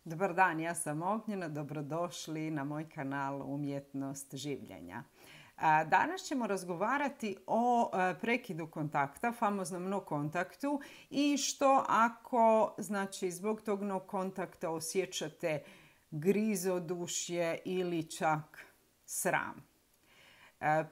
Dobar dan, ja sam Ognjena, dobrodošli na moj kanal Umjetnost življenja. Danas ćemo razgovarati o prekidu kontakta, famoznom no kontaktu i što ako, znači, zbog tog no kontakta osjećate grizodušje ili čak sram.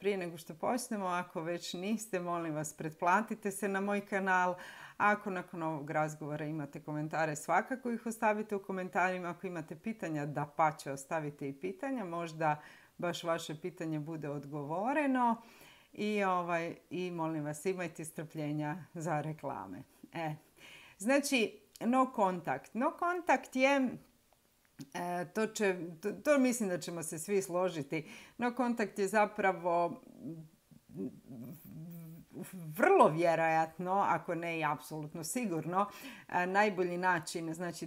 Prije nego što počnemo, ako već niste, molim vas pretplatite se na moj kanal. Ako nakon ovog razgovora imate komentare, svakako ih ostavite u komentarima. Ako imate pitanja, dapače ostavite i pitanja. Možda baš vaše pitanje bude odgovoreno. I molim vas, imajte strpljenja za reklame. Znači, no kontakt. No kontakt je... To mislim da ćemo se svi složiti. No kontakt je zapravo vrlo vjerojatno, ako ne i apsolutno sigurno, najbolji način, znači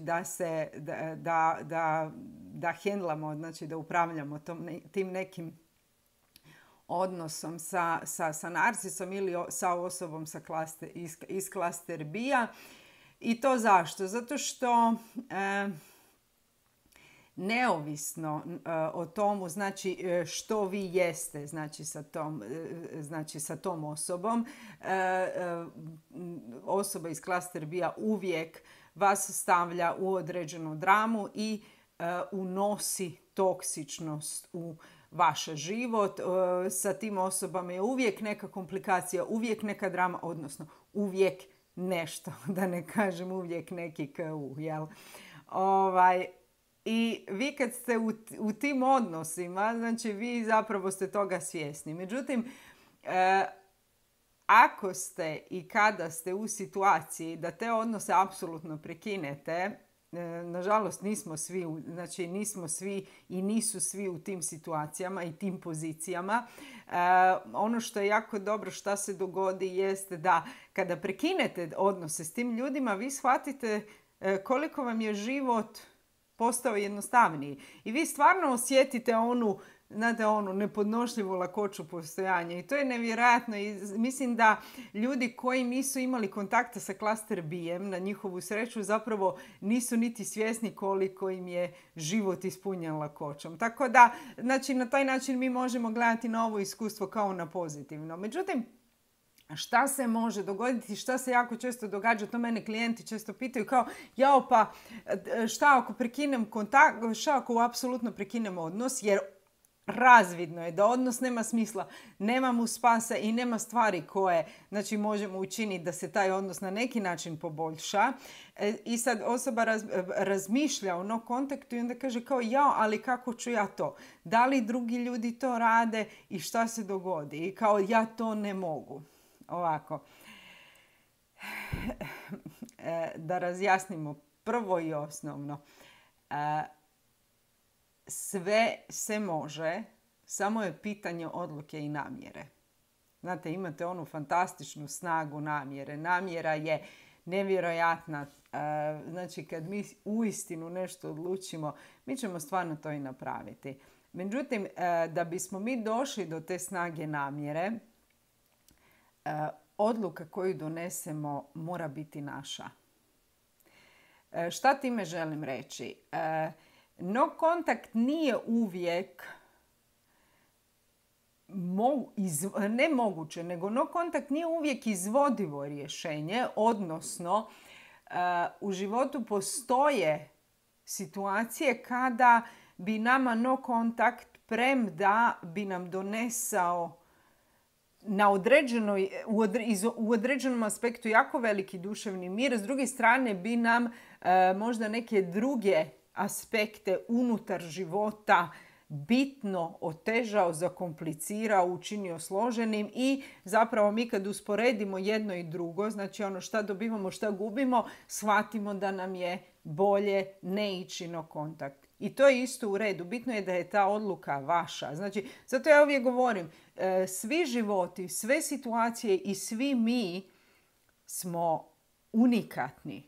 da hendlamo, znači da upravljamo tim nekim odnosom sa narcisom ili sa osobom iz klaster B-a. I to zašto? Zato što neovisno o tomu, znači što vi jeste, znači sa tom osobom, osoba iz klaster B-a uvijek vas stavlja u određenu dramu i unosi toksičnost u vaš život. Sa tim osobama je uvijek neka komplikacija, uvijek neka drama, odnosno uvijek nešto, da ne kažem uvijek neki KU, jel? I vi kad ste u tim odnosima, znači vi zapravo ste toga svjesni. Međutim, ako ste i kada ste u situaciji da te odnose apsolutno prekinete, nažalost nismo svi i nisu svi u tim situacijama i tim pozicijama. Ono što je jako dobro što se dogodi jeste da kada prekinete odnose s tim ljudima, vi shvatite koliko vam je život postao jednostavniji. I vi stvarno osjetite onu nepodnošljivu lakoću postojanja. I to je nevjerojatno. I mislim da ljudi koji nisu imali kontakta sa klaster B-em, na njihovu sreću, zapravo nisu niti svjesni koliko im je život ispunjen lakoćom. Tako da, znači, na taj način mi možemo gledati na ovo iskustvo kao na pozitivno. Međutim, šta se može dogoditi, šta se jako često događa, to mene klijenti često pitaju kao, jao pa šta ako prekinem kontakt, šta ako apsolutno prekinem odnos, jer razvidno je da odnos nema smisla, nema mu spasa i nema stvari koje, znači, možemo učiniti da se taj odnos na neki način poboljša. I sad osoba razmišlja o no kontaktu i onda kaže kao, jao, ali kako ću ja to? Da li drugi ljudi to rade i šta se dogodi? I kao, ja to ne mogu. Ovako, da razjasnimo prvo i osnovno. Sve se može, samo je pitanje odluke i namjere. Znate, imate onu fantastičnu snagu namjere. Namjera je nevjerojatna. Znači, kad mi uistinu nešto odlučimo, mi ćemo stvarno to i napraviti. Međutim, da bismo mi došli do te snage namjere, odluka koju donesemo mora biti naša. Šta time želim reći? No kontakt nije uvijek nemoguće, nego no kontakt nije uvijek izvodivo rješenje, odnosno u životu postoje situacije kada bi nama no kontakt, premda bi nam donesao u određenom aspektu jako veliki duševni mir, s druge strane bi nam možda neke druge aspekte unutar života bitno otežao, zakomplicirao, učinio složenim i zapravo mi kad usporedimo jedno i drugo, znači ono šta dobivamo, šta gubimo, shvatimo da nam je bolje ne ići na kontakt. I to je isto u redu. Bitno je da je ta odluka vaša. Znači, zato ja uvijek govorim, svi životi, sve situacije i svi mi smo unikatni.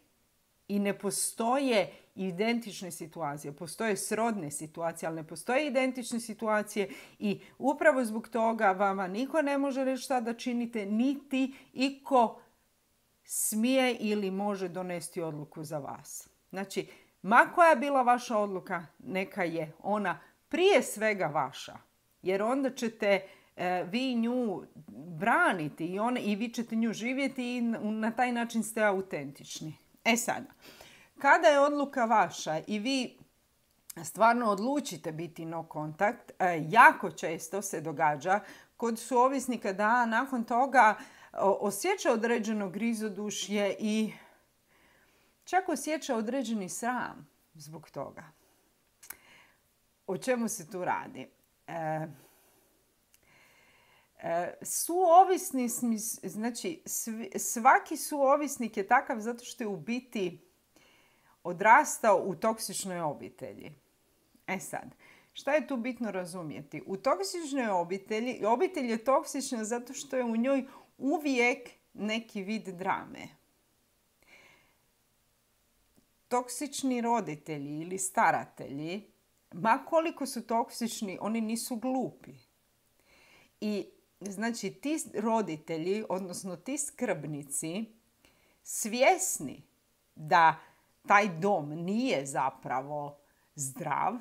I ne postoje identične situacije. Postoje srodne situacije, ali ne postoje identične situacije i upravo zbog toga vama niko ne može reći šta da činite, niti iko smije ili može donesti odluku za vas. Znači, Ma koja je bila vaša odluka, neka je ona prije svega vaša. Jer onda ćete vi nju braniti i vi ćete nju živjeti i na taj način ste autentični. Sada, kada je odluka vaša i vi stvarno odlučite biti no kontakt, jako često se događa kod suovisnika da nakon toga osjeća određeno grizodušje i čak osjeća određeni sram zbog toga. O čemu se tu radi? Suovisni, znači svaki suovisnik je takav zato što je u biti odrastao u toksičnoj obitelji. Sad, šta je tu bitno razumjeti? U toksičnoj obitelj je toksična zato što je u njoj uvijek neki vid drame. Toksični roditelji ili staratelji, ma koliko su toksični, oni nisu glupi. I znači ti roditelji, odnosno ti skrbnici, svjesni da taj dom nije zapravo zdrav,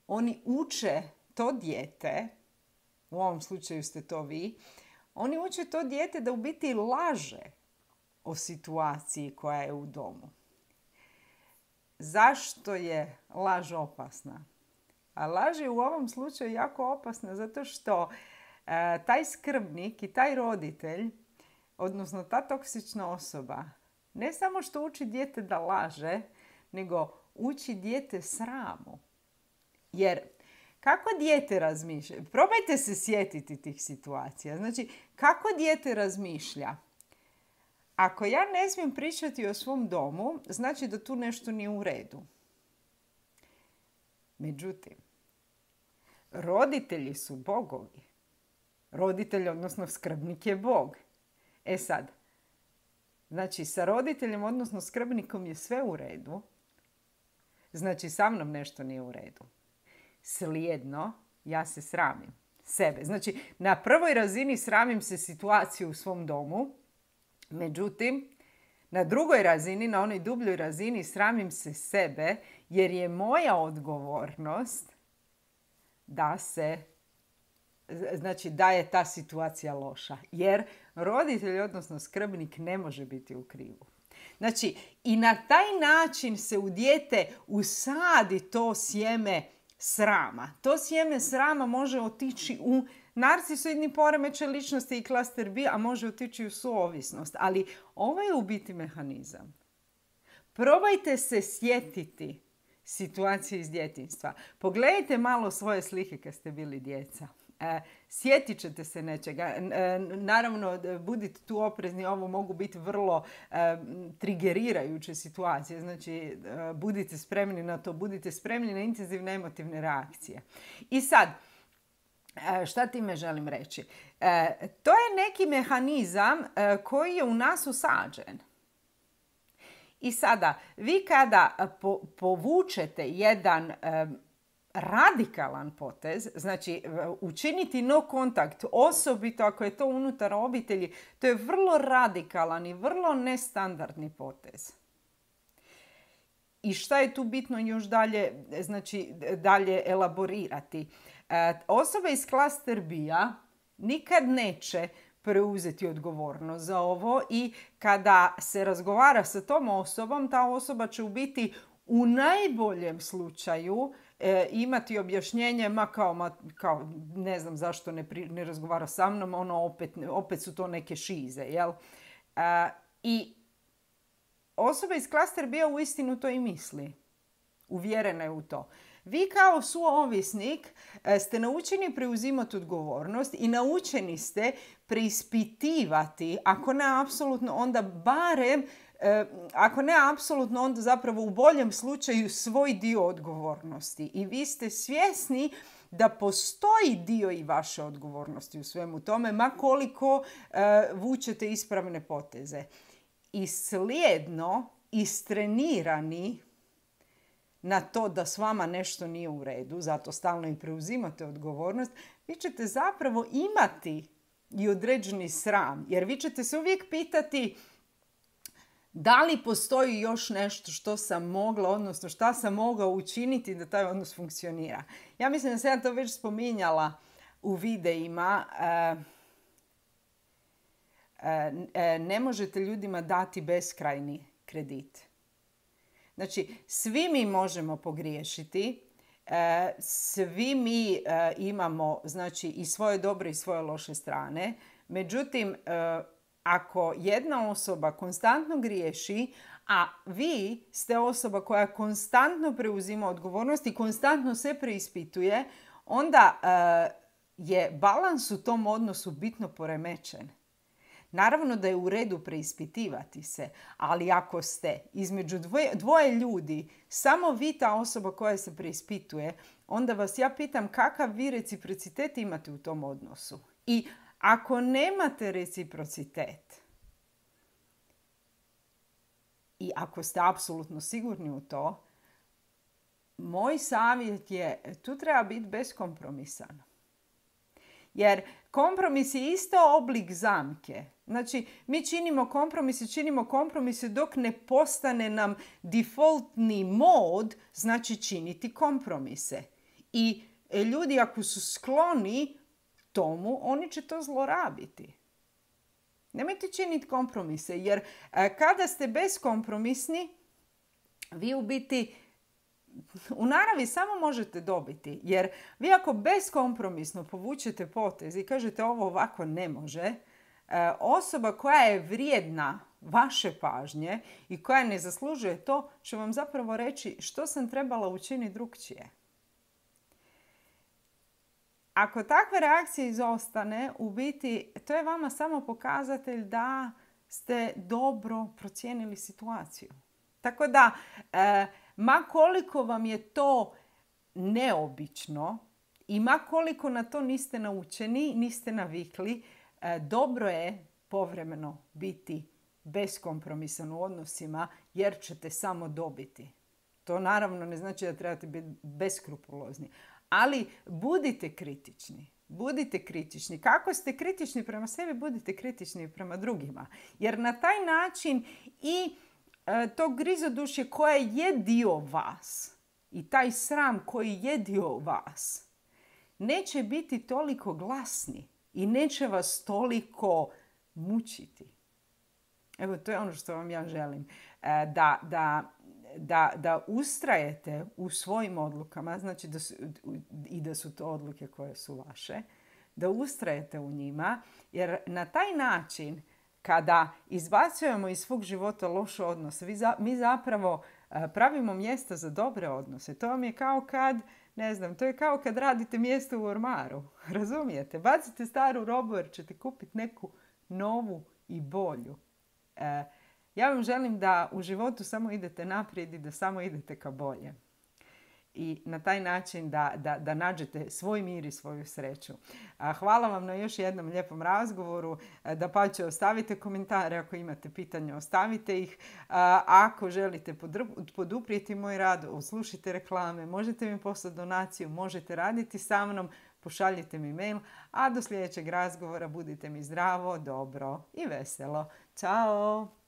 oni uče to dijete, u ovom slučaju ste to vi, oni uče to dijete da u biti laže o situaciji koja je u domu. Zašto je laž opasna? A laž je u ovom slučaju jako opasna zato što taj skrbnik i taj roditelj, odnosno ta toksična osoba, ne samo što uči dijete da laže, nego uči dijete sramu. Jer kako dijete razmišlja? Probajte se sjetiti tih situacija. Znači, kako dijete razmišlja? Ako ja ne smijem pričati o svom domu, znači da tu nešto nije u redu. Međutim, roditelji su bogovi. Roditelj, odnosno skrbnik je Bog. Sad, znači sa roditeljem, odnosno skrbnikom je sve u redu. Znači sa mnom nešto nije u redu. Slijedno, ja se sramim sebe. Znači, na prvoj razini sramim se situaciju u svom domu. Međutim, na drugoj razini, na onoj dubljoj razini, sramim se sebe jer je moja odgovornost da je ta situacija loša. Jer roditelj, odnosno skrbnik, ne može biti u krivu. Znači, i na taj način se u dijete usadi to sjeme srama. To sjeme srama može otići u narcisoidni poremećaj ličnosti i klaster B, a može otići u suovisnost. Ali ovo je u biti mehanizam. Probajte se sjetiti situacije iz djetinjstva. Pogledajte malo svoje slike kad ste bili djeca. Sjetit ćete se nečega. Naravno, budite tu oprezni, ovo mogu biti vrlo trigerirajuće situacije. Znači, budite spremni na to, budite spremni na intenzivne emotivne reakcije. I sad, šta time želim reći? To je neki mehanizam koji je u nas usađen. I sada, vi kada povučete jedan radikalan potez, znači učiniti no kontakt, osobito ako je to unutar obitelji, to je vrlo radikalan i vrlo nestandardni potez. I šta je tu bitno još dalje elaborirati? Osoba iz klaster B-a nikad neće preuzeti odgovornost za ovo i kada se razgovara sa tom osobom, ta osoba će u biti u najboljem slučaju imati objašnjenje, kao ne znam zašto ne razgovara sa mnom, opet su to neke šize, jel? I osoba iz klaster B-a uistinu to i misli. Uvjerena je u to. Vi kao suovisnik ste naučeni preuzimati odgovornost i naučeni ste preispitivati, ako ne apsolutno, onda barem, ako ne apsolutno, onda zapravo u boljem slučaju svoj dio odgovornosti. I vi ste svjesni da postoji dio i vaše odgovornosti u svemu tome, ma koliko vučete ispravne poteze. I slijedno, istrenirani na to da s vama nešto nije u redu, zato stalno i preuzimate odgovornost, vi ćete zapravo imati i određeni sram. Jer vi ćete se uvijek pitati Da li postoji još nešto što sam mogla, odnosno šta sam mogao učiniti da taj odnos funkcionira? Ja mislim da sam ja to već spominjala u videima. Ne možete ljudima dati beskrajni kredit. Znači, svi mi možemo pogriješiti, svi mi imamo, znači, i svoje dobre i svoje loše strane. Međutim, ako jedna osoba konstantno griješi, a vi ste osoba koja konstantno preuzima odgovornost i konstantno se preispituje, onda je balans u tom odnosu bitno poremećen. Naravno da je u redu preispitivati se, ali ako ste između dvoje ljudi samo vi ta osoba koja se preispituje, onda vas ja pitam kakav vi reciprocitet imate u tom odnosu. I ako nemate reciprocitet i ako ste apsolutno sigurni u to, moj savjet je, tu treba biti beskompromisan. Jer kompromis je isto oblik zamke. Znači, mi činimo kompromise dok ne postane nam defaultni mod, znači činiti kompromise. I ljudi ako su skloni tomu, oni će to zlorabiti. Nemojte činiti kompromise, jer kada ste beskompromisni, vi u biti u naravi samo možete dobiti. Jer vi ako beskompromisno povučete potez i kažete ovo ovako ne može, osoba koja je vrijedna vaše pažnje i koja ne zaslužuje to, će vam zapravo reći što sam trebala učiniti drukčije. Ako takve reakcije izostane, u biti to je vama samo pokazatelj da ste dobro procijenili situaciju. Tako da, ma koliko vam je to neobično i ma koliko na to niste naučeni, niste navikli, dobro je povremeno biti beskompromisan u odnosima jer ćete samo dobiti. To naravno ne znači da trebate biti beskrupulozni. Ali budite kritični. Budite kritični. Kako ste kritični prema sebi, budite kritični prema drugima. Jer na taj način i to grizodušje koje je dio vas i taj sram koji je dio vas neće biti toliko glasni i neće vas toliko mučiti. Evo, to je ono što vam ja želim. Da ustrajete u svojim odlukama, znači da su to odluke koje su vaše, da ustrajete u njima, jer na taj način kada izbacujemo iz svog života loše odnose, mi zapravo pravimo mjesta za dobre odnose. To vam je kao kad, to je kao kad radite mjesto u ormaru. Razumijete? Bacite staru robu jer ćete kupiti neku novu i bolju. Ja vam želim da u životu samo idete naprijed i da samo idete ka bolje. I na taj način da nađete svoj mir i svoju sreću. Hvala vam na još jednom lijepom razgovoru. Dapače, ostavite komentare ako imate pitanja, ostavite ih. Ako želite poduprijeti moj rad, slušajte reklame, možete mi poslati donaciju, možete raditi sa mnom, pošaljite mi mail, a do sljedećeg razgovora budite mi zdravo, dobro i veselo. Ćao!